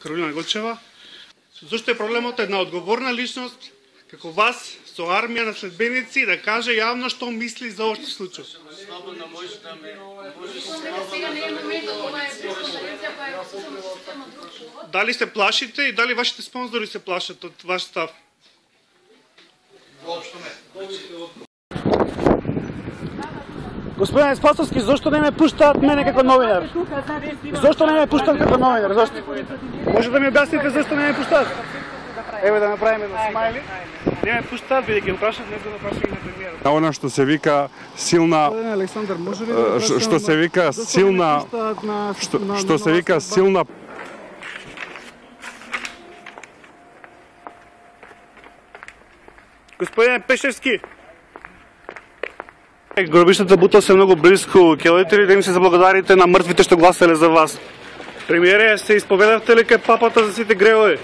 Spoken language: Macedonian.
Каролина Гочева. Зошто е проблемот една одговорна личност како вас со армија на следбеници да каже јавно што мисли за овој случај? Слободно може да ме... Сега не е моментот, ова е пресконференција која е обсудена система друг повод. Дали се плашите и дали вашите спонзори се плашат од ваш став? Воопшто не. Господин Спасовски, зошто не ме пуштаат мене како новинар? Зошто не ме пуштаат како новинар? Зошто? Може да ми објасните зошто не ме пуштаат? Еве да направиме едно смајли. Не ме пуштаат, бидејќи прашат него да праша и на премиерот. Она што се вика силна, Господин Александар, може ли да што се вика силна, што се вика силна. Господине Пешевски, гробиштата Бутел се многу близко. Ќе ли да им се заблагодарите на мртвите што гласале за вас? Премиере, се исповедавте ли кај папата за сите гревови?